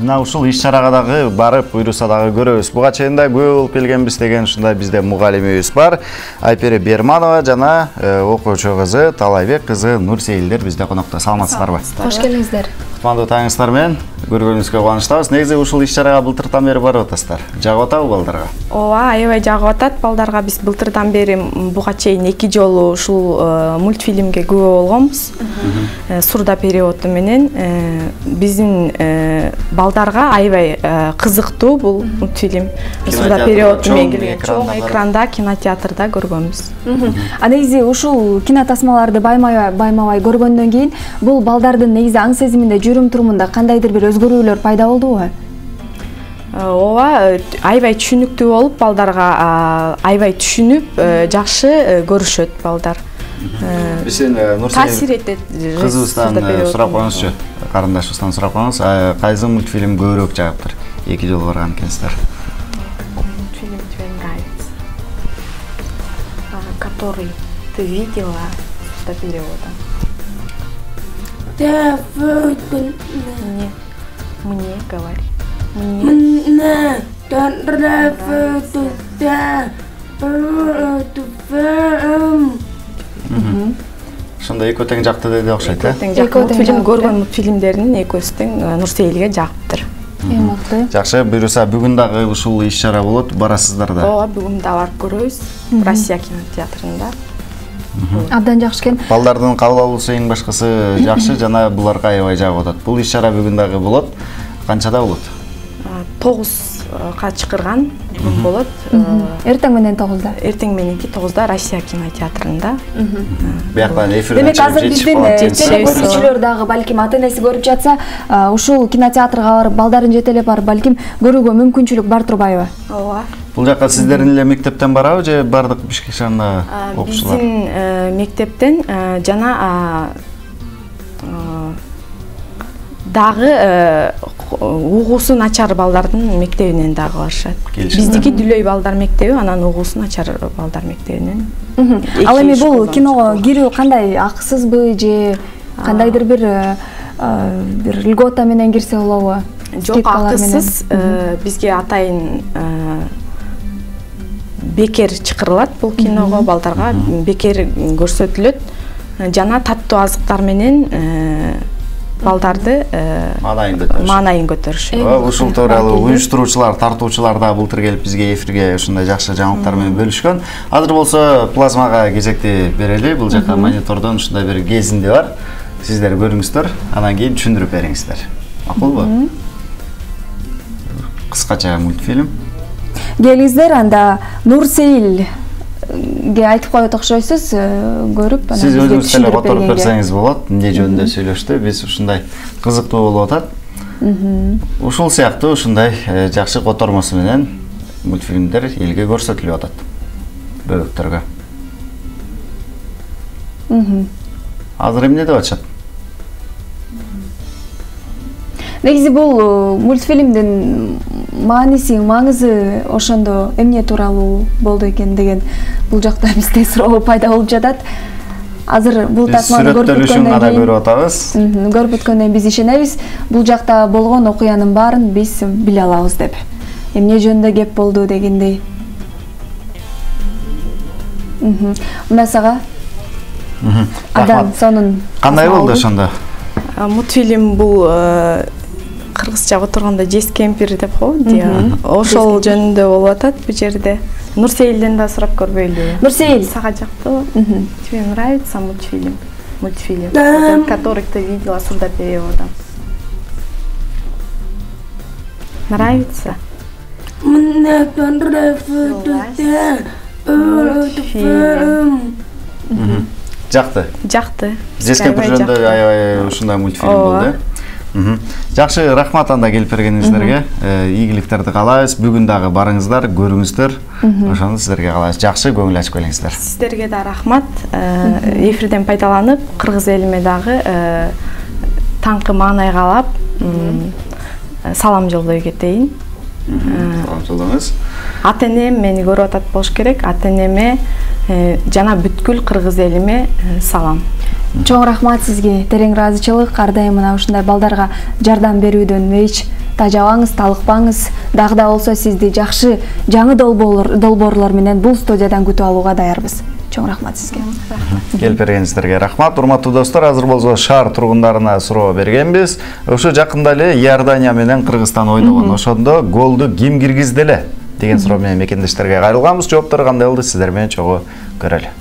мына ушул иш-чарага дагы барып, буйруса дагы көрөбүз. Буга чейин да күбө болуп келгенбиз деген ушундай бизде мугалимибиз бар. Айпери Берманова жана окуучу кызы Талайбек кызы Нурсеилдер бизде конокто. Саламатсыздарбы? Кош келиңиздер. Кутмандуу таңыңыздар менен көргөнүбүзгө кубанычтабыз. Негизи ушул иш-чарага былтырдан бери барып атасыздар. Жагып атабы балдарга? Ооба, аябай жагып атат. Балдарга биз былтырдан бери буга чейин 2 жолу ушул мультфильмге күбө болгонбуз. Сурда переводу менен биздин балдарга аябай кызыктуу бул мультфильм. Сурда переводу менен чоң экранда, кинотеатрда көргөнбүз. А негизи ушул кинотасмаларды баймабай көргөндөн кийин бул балдардын негизи аң сезиминде, жүрүм турумунда кандайдыр бир өзгөрүүлөр пайда болдубу? Ооба, аябай түшүнүктүү болуп, балдарга аябай түшүнүп, жакшы көрүшөт балдар. Биздин таасир этет. Кызыбыздан сурап коюңузчу, карындашыбыздан сурап коюңуз, кайсы мультфильм көбүрөөк жагыптыр? 2 жолу барган экенсиздер. Мультфильм тебе нравится, который ты видела до перевода. Да, вот. Мне говори. Мне нравится, да. Ошондо экөө тең жакты деди окшойт, э? Мультфильм көргөн мультфильмдеринин экөөсү тең Нурсеилге жагыптыр. Мыкты. Жакшы, буюрса бүгүн дагы ушул иш-чара болот, барасыздар да. Ооба, бүгүн да барып көрөбүз. Россия кинотеатрында. Абдан жакшы экен. Балдардын кабыл алуусу эң башкысы жакшы жана буларга аябай жагып атат. Бул иш-чара бүгүн дагы болот. Канчада болот? 9га чакырган бүгүн болот. Эртең менен 9да. Эртең мененки 9да Россия кинотеатрында. Бияктан эфирден Демек азыр биздин телекөрүүчүлөр дагы балким ата-энеси көрүп жатса, ушул кинотеатрга барып, балдарын жетелеп барып, балким көрүүгө мүмкүнчүлүк бар турбайбы? Ооба. Бул жакка сиздердин эле мектептен барабы же бардык Бишкек шаарында окуучулар? Биздин мектептен жана дагы угуусу начар балдардын мектебинен дагы барышат. Биздики Дүлөй балдар мектеби, анан угуусу начар балдар мектебинен. Ал эми бул киного кирүү кандай, акысызбы же кандайдыр бир льгота менен кирсе болобу? Жок, акысыз. Бизге атайын бекер чакырылат бул киного, балдарга бекер көрсөтүлөт. Жана таттуу азыктар менен балдарды маанайын көтөрүшөт. Ушул тууралуу уюштуруучулар, тартуучулар да былтыр келип бизге эфирге ушундай жакшы жаңылыктар менен бөлүшкөн. Азыр болсо плазмага кезекти берели. Бул жака монитордон ушундай бир кезинди бар. Сиздер көрүңүздөр, анан кийин түшүндүрүп бериңиздер. Макулбу? Кыскача мультфильм. Келиңиздер, анда Нурсеилге айтып коет окшойсуз, көрүп, анан сиз өзүңүз деле которуп берсеңиз болот. Эмне жөнүндө сүйлөштү? Биз ушундай кызыктуу болуп атат. Ушул сыяктуу ушундай жакшы котормосу менен мультфильмдер элге көрсөтүлүп атат. Бөбөктөргө. Азыр эмне деп атышат? Негизи бул мультфильмдин мааниси, маңызы ошондо эмне тууралуу болду экен деген бул жакта бизде суроо пайда болуп жатат. Азыр бул тасманы көрүп өткөндөн биз ишенебиз, бул жакта болгон окуянын баарын биз биле алабыз деп. Эмне жөнүндө кеп болду дегендей. Мынасага Адан сонун кандай болду ошондо? Мультфильм бул кыргызча отурганда жес кемпир деп коет. Ошол жөнүндө болуп атат бу жерде. Нурсеилден да сурап көрбөйлүбү? Нурсеил, сага жактыбы? Тебе нравится мультфильм? Мультфильм, который ты видела сурда перевода. Нравится? Мне нравится. Жакты. Жакты. Жес кемпир жөнүндө аябай ушундай мультфильм болду. Жакшы, рахмат анда келип бергениңиздерге. Ийгиликтерди каалайбыз. Бүгүн дагы барыңыздар, көрүңүздөр. Ошону сиздерге каалайбыз. Жакшы көңүл ачып келиңиздер. Сиздерге да рахмат. Эфирден пайдаланып, кыргыз элиме дагы таңкы маанай каалап, салам жолдой кетейин. Салам жолдоңуз. Ата-энем мени көрүп атат болуш керек. Ата-энеме жана бүткүл кыргыз элиме салам. Чоң рахмат сизге. Терең ыраазычылык. Ар дайым мына ушундай балдарга жардам берүүдөн эч тажабаңыз, талыкпаңыз. Дагы да болсо сизди жакшы жаңы долбоорлор менен бул студиядан күтүп алууга даярбыз. Чоң рахмат сизге. Келип бергениңиздерге рахмат. Урматтуу достор, азыр болсо шаар тургундарына суроо бергенбиз. Ошо жакында эле Иордания менен Кыргызстан ойногон. Ошондо голду ким киргизди эле деген суроо менен мекендештерге кайрылганбыз. Жооптор кандай болду? Сиздер менен чогуу көрөлү.